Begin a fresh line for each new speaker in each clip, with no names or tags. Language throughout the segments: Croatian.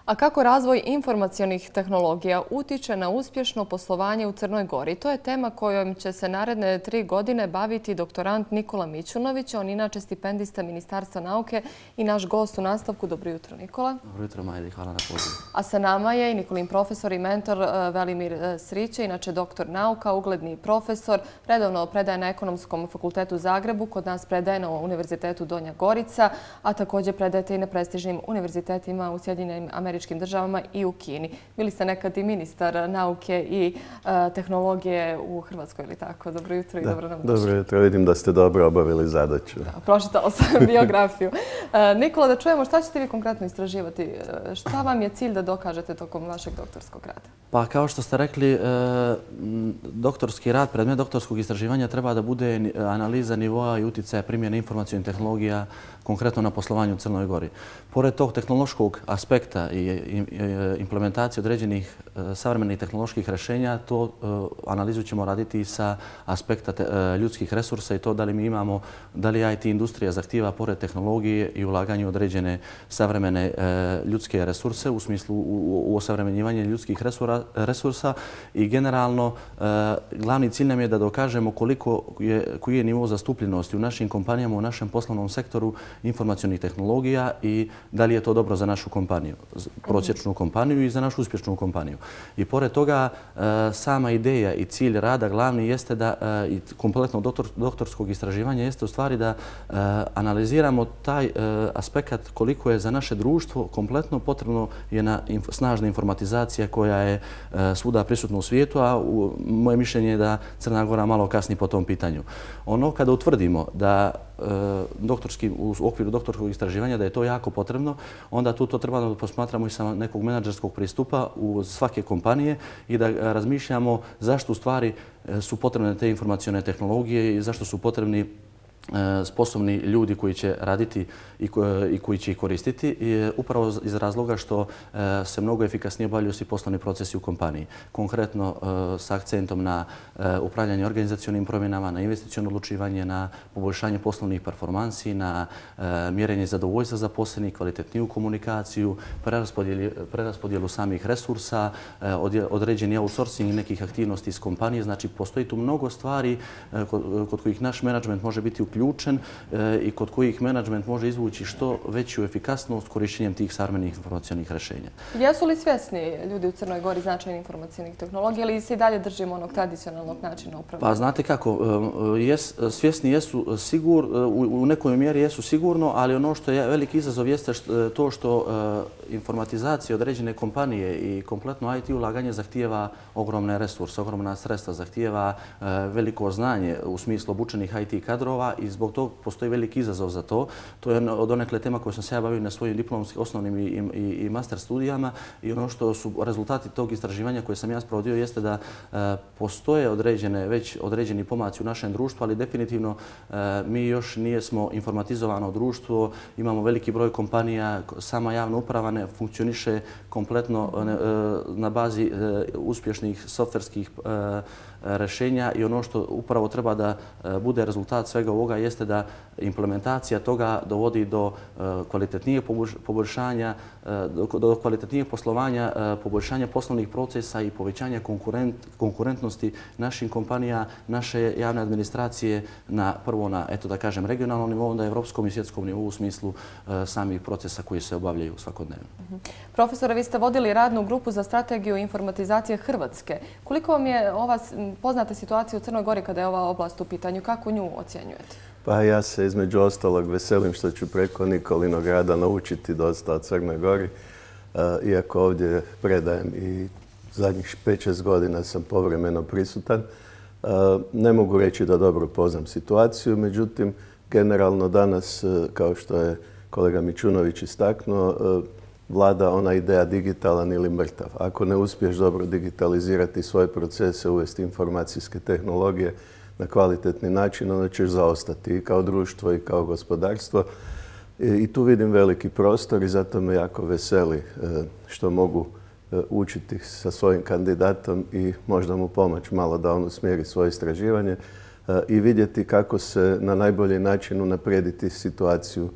A kako razvoj informacionih tehnologija utiče na uspješno poslovanje u Crnoj Gori? To je tema kojom će se naredne 3 godine baviti doktorant Nikola Mićunović. On inače stipendista Ministarstva nauke i naš gost u nastavku. Dobro jutro, Nikola.
Dobro jutro, Majdi. Hvala na pozivu.
A sa nama je i Nikolin profesor i mentor Velimir Sriće, inače doktor nauka, ugledni profesor. Redovno predaje na Ekonomskom fakultetu u Zagrebu, kod nas predaje na Univerzitetu Donja Gorica, a također predajete i na prestižnim univerzitetima u Sjedinjenim Američkim Državama i u Kini. Bili ste nekad i ministar nauke i tehnologije u Hrvatskoj, ili tako? Dobro jutro i dobro nam došli.
Dobro jutro, vidim da ste dobro obavili zadaću.
Pročitala sam biografiju. Nikola, da čujemo šta ćete vi konkretno istraživati? Šta vam je cilj da dokažete tokom vašeg doktorskog rada?
Pa kao što ste rekli, doktorski rad, predmet doktorskog istraživanja treba da bude analiza nivoa i utjecaja primjene informacionih tehnologija konkretno na poslovanje u Crnoj Gori. Pored tog tehnološkog aspekta i implementacije određenih savremenih tehnoloških rješenja, to analizu ćemo raditi sa aspekta ljudskih resursa i to da li mi imamo, da li IT industrija zahtijeva pored tehnologije i ulaganje u određene savremene ljudske resurse u smislu osavremenjivanja ljudskih resursa i generalno glavni cilj nam je da dokažemo koji je nivo zastupljenosti u našim kompanijama, u našem poslovnom sektoru informacionih tehnologija i da li je to dobro za našu kompaniju, prosječnu kompaniju i za našu uspješnu kompaniju. I pored toga, sama ideja i cilj rada glavni jeste da, i kompletnog doktorskog istraživanja jeste u stvari da analiziramo taj aspekt koliko je za naše društvo kompletno potrebno je snažna informatizacija koja je svuda prisutna u svijetu, a moje mišljenje je da Crna Gora malo kasni po tom pitanju. Ono kada utvrdimo da u okviru doktorskog istraživanja da je to jako potrebno, onda tu to treba da posmatramo i sa nekog menadžerskog pristupa u svake kompanije i da razmišljamo zašto u stvari su potrebne te informacione tehnologije i zašto su potrebni sposobni ljudi koji će raditi i koji će ih koristiti, upravo iz razloga što se mnogo efikasnije obavljaju svi poslovni procesi u kompaniji. Konkretno s akcentom na upravljanje organizacionim promjenama, na investiciono odlučivanje, na poboljšanje poslovnih performansi, na mjerenje zadovoljstva zaposlenih, kvalitetniju komunikaciju, preraspodjelu samih resursa, određeni outsourcing nekih aktivnosti iz kompanije. Znači, postoji tu mnogo stvari kod kojih naš menadžment može biti uključen i kod kojih menadžment može izvući što veću efikasnost korištenjem tih savremenih informacionih rješenja.
Jesu li svjesni ljudi u Crnoj Gori značaja informacionih tehnologija ili se i dalje držimo onog tradicionalnog načina upravljanja?
Pa znate kako, svjesni jesu u nekoj mjeri jesu sigurno, ali ono što je veliki izazov jeste to što informatizacija određene kompanije i kompletno IT ulaganje zahtijeva ogromne resurse, ogromna sredstva, zahtijeva veliko znanje u smislu obučenih IT kadrova i zbog toga postoji veliki izazov za to. To je donekle tema koju sam se ja bavio na svojim diplomskim osnovnim i master studijama i ono što su rezultati tog istraživanja koje sam ja sprovodio jeste da postoje već određeni pomaci u našem društvu, ali definitivno mi još nijesmo informatizovano društvo, imamo veliki broj kompanija, sama javna uprava ne funkcioniše kompletno na bazi uspješnih softverskih rješenja i ono što upravo treba da bude rezultat svega ovoga jeste da implementacija toga dovodi do kvalitetnijeg poboljšanja, do kvalitetnijeg poslovanja, poboljšanja poslovnih procesa i povećanja konkurentnosti naših kompanija, naše javne administracije prvo na, eto da kažem, regionalnom nivou, onda evropskom i svjetskom nivou u smislu samih procesa koji se obavljaju svakodnevno.
Profesore, vi ste vodili radnu grupu za strategiju informatizacije Hrvatske. Koliko vam je ova poznata situacija u Crnoj Gori kada je ova oblast u pitanju? Kako nju ocjenjujete?
Pa ja se između ostalog veselim što ću preko Nikolinog rada naučiti dosta o Crnoj Gori. Iako ovdje predajem i zadnjih 5-6 godina sam povremeno prisutan. Ne mogu reći da dobro poznam situaciju, međutim, generalno danas, kao što je kolega Mićunović istaknuo, vlada ona ideja digitalan ili mrtav. Ako ne uspiješ dobro digitalizirati svoje procese, uvesti informacijske tehnologije na kvalitetni način, onda ćeš zaostati i kao društvo i kao gospodarstvo. I tu vidim veliki prostor i zato me jako veseli što mogu učiti sa svojim kandidatom i možda mu pomoći malo da on usmjeri svoje istraživanje i vidjeti kako se na najbolji način unaprijediti situaciju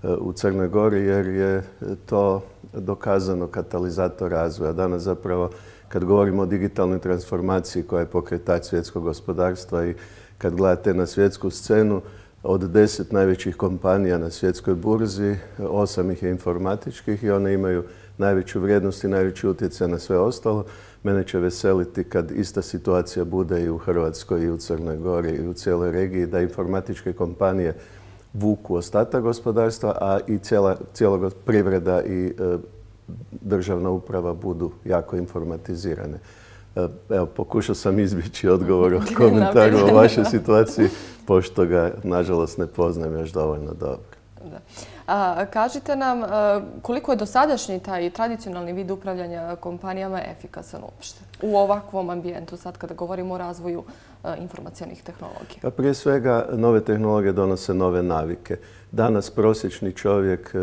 u Crnoj Gori jer je to dokazano katalizator razvoja. Danas zapravo kad govorimo o digitalnoj transformaciji koja je pokretač svjetskog gospodarstva i kad gledate na svjetsku scenu, od 10 najvećih kompanija na svjetskoj burzi, 8 ih je informatičkih i one imaju najveću vrijednost i najveći utjecaj na sve ostalo. Mene će veseliti kad ista situacija bude i u Hrvatskoj i u Crnoj Gori i u cijeloj regiji, da informatičke kompanije vuku ostatak gospodarstva, a i cijela privreda i državna uprava budu jako informatizirane. Evo, pokušao sam izbjeći odgovor o komentaru o vašoj situaciji, pošto ga, nažalost, ne poznajem još dovoljno dobro.
Kažite nam koliko je dosadašnji taj tradicionalni vid upravljanja kompanijama efikasan uopšte u ovakvom ambijentu, sad kada govorimo o razvoju informacionih tehnologija?
Pa prije svega, nove tehnologije donose nove navike. Danas prosječni čovjek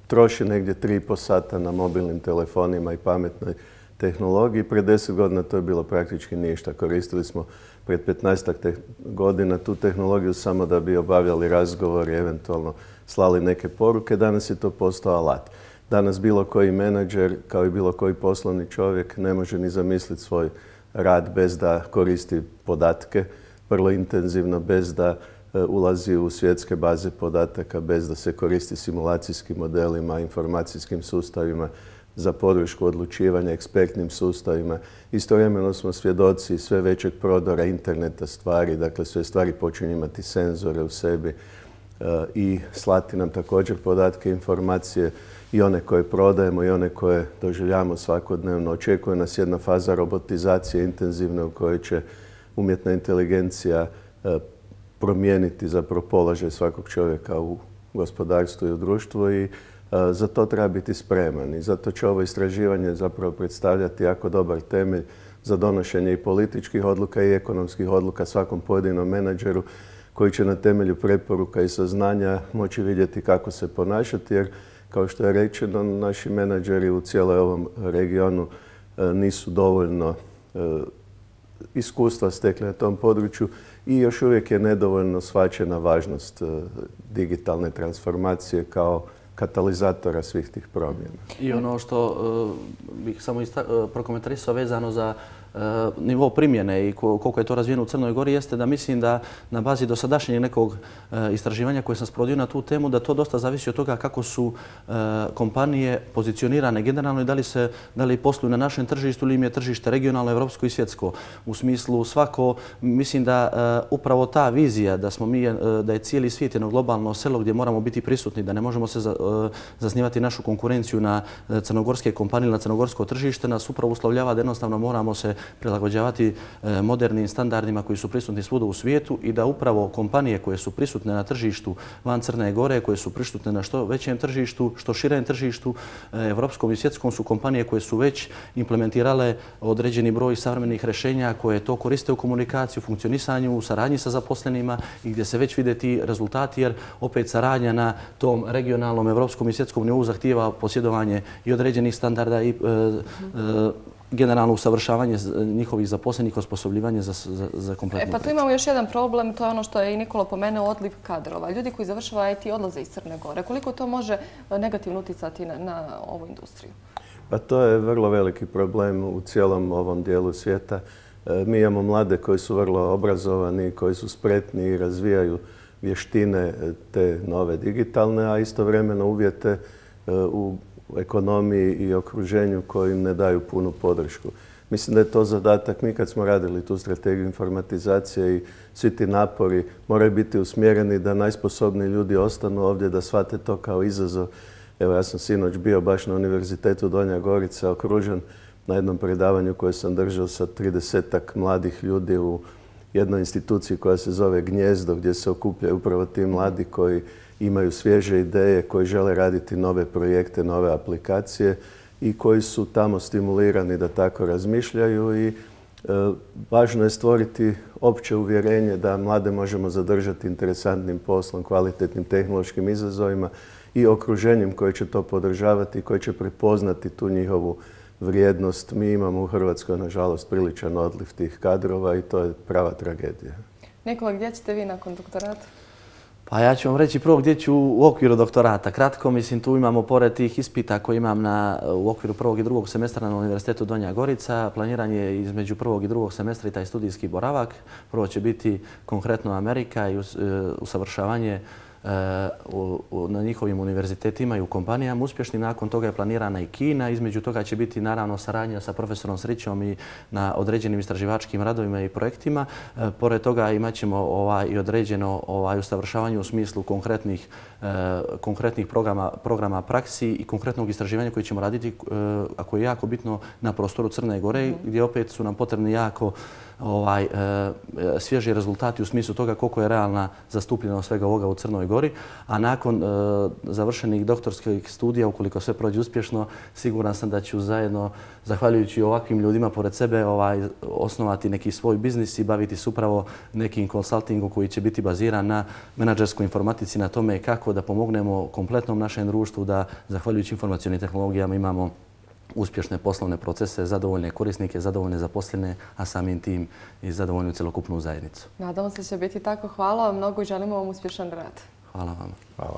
troši negdje 3,5 sata na mobilnim telefonima i pametnoj tehnologiji. Pred 10 godina to je bilo praktički ništa. Koristili smo pred 15 godina tu tehnologiju samo da bi obavljali razgovor i eventualno slali neke poruke. Danas je to postao alat. Danas bilo koji menadžer, kao i bilo koji poslovni čovjek, ne može ni zamisliti svoj rad bez da koristi podatke vrlo intenzivno, bez da ulazi u svjetske baze podataka, bez da se koristi simulacijskim modelima, informacijskim sustavima za podršku odlučivanja, ekspertnim sustavima. Istovremeno smo svjedoci sve većeg prodora interneta stvari, dakle sve stvari počinju imati senzore u sebi i slati nam također podatke, informacije i one koje prodajemo i one koje doživljavamo svakodnevno. Očekuje nas jedna faza robotizacije intenzivne u kojoj će umjetna inteligencija promijeniti zapravo položaj svakog čovjeka u gospodarstvu i u društvu i za to treba biti spreman. I zato će ovo istraživanje zapravo predstavljati jako dobar temelj za donošenje i političkih odluka i ekonomskih odluka svakom pojedinom menadžeru koji će na temelju preporuka i saznanja moći vidjeti kako se ponašati, jer kao što je rečeno, naši menadžeri u cijelom ovom regionu nisu dovoljno iskustva stekli na tom području i još uvijek je nedovoljno shvaćena važnost digitalne transformacije kao katalizatora svih tih promjena.
I ono što bih samo prokomentarisao vezano za nivo primjene i koliko je to razvijeno u Crnoj Gori jeste da mislim da na bazi dosadašnjeg nekog istraživanja koje sam sprovodio na tu temu, da to dosta zavisi od toga kako su kompanije pozicionirane generalno i da li posluju na našem tržištu ili im je tržište regionalno, evropsko i svjetsko. U smislu svako, mislim da upravo ta vizija da je cijeli svijet jedno globalno selo gdje moramo biti prisutni, da ne možemo se zasnivati našu konkurenciju na crnogorske kompanije, na crnogorsko tržište, nas upravo uslovljava da jednostavno moramo se prilagođavati modernim standardima koji su prisutni svuda u svijetu i da upravo kompanije koje su prisutne na tržištu van Crne Gore, koje su prisutne na što većem tržištu, što širem tržištu, evropskom i svjetskom, su kompanije koje su već implementirale određeni broj savremenih rješenja koje to koriste u komunikaciji, u funkcionisanju, u saradnji sa zaposlenima i gdje se već vide ti rezultati, jer opet saradnja na tom regionalnom, evropskom i svjetskom nivou zahtijeva posjedovanje i određenih standarda i generalno usavršavanje njihovih zaposlenih, osposobljivanje za kompletnu
Pa tu imamo još jedan problem, to je ono što je i Nikola pomenuo, odliv kadrova. Ljudi koji završavaju IT odlaze iz Crne Gore. Koliko to može negativno utjecati na ovu industriju?
Pa to je vrlo veliki problem u cijelom ovom dijelu svijeta. Mi imamo mlade koji su vrlo obrazovani, koji su spretni i razvijaju vještine te nove digitalne, a istovremeno uvjete u ekonomiji i okruženju koji im ne daju punu podršku. Mislim da je to zadatak. Mi kad smo radili tu strategiju informatizacije i svi ti napori moraju biti usmjereni da najsposobniji ljudi ostanu ovdje, da shvate to kao izazov. Evo, ja sam sinoć bio baš na Univerzitetu Donja Gorica okružen na jednom predavanju koje sam držao sa 30-ak mladih ljudi u jednoj instituciji koja se zove Gnjezdo, gdje se okupljaju upravo ti mladi koji imaju svježe ideje, koji žele raditi nove projekte, nove aplikacije i koji su tamo stimulirani da tako razmišljaju i važno je stvoriti opće uvjerenje da mlade možemo zadržati interesantnim poslom, kvalitetnim tehnološkim izazovima i okruženjem koje će to podržavati i koje će prepoznati tu njihovu vrijednost. Mi imamo u Hrvatskoj, nažalost, priličan odliv tih kadrova i to je prava tragedija.
Nikola, gdje ćete vi nakon doktorata?
Pa ja ću vam reći prvo gdje ću u okviru doktorata. Kratko, mislim, tu imamo pored tih ispita koje imam u okviru prvog i drugog semestra na Univerzitetu Donja Gorica. Planiranje između prvog i drugog semestra i taj studijski boravak. Prvo će biti konkretno Amerika i usavršavanje na njihovim univerzitetima i u kompanijama uspješnim. Nakon toga je planirana i Kina. Između toga će biti naravno saradnja sa profesorom Srićom i na određenim istraživačkim radovima i projektima. Pored toga imat ćemo i određeno usavršavanje u smislu konkretnih programa praksi i konkretnog istraživanja koje ćemo raditi, a koje je jako bitno na prostoru Crne Gore, gdje opet su nam potrebni jako svježi rezultati u smislu toga koliko je realna zastupljenost svega ovoga u Crnoj Gori. A nakon završenih doktorskih studija, ukoliko sve prođe uspješno, siguran sam da ću zajedno, zahvaljujući ovakvim ljudima pored sebe, osnovati neki svoj biznis i baviti se upravo nekim konsultingom koji će biti baziran na menadžerskoj informatici, na tome kako da pomognemo kompletnom našem društvu da, zahvaljujući informacionim tehnologijama, imamo uspješne poslovne procese, zadovoljne korisnike, zadovoljne zaposlene, a samim tim i zadovoljnu celokupnu zajednicu.
Nadamo se da će biti tako. Hvala vam mnogo i želimo vam uspješan rad.
Hvala vam.
Hvala.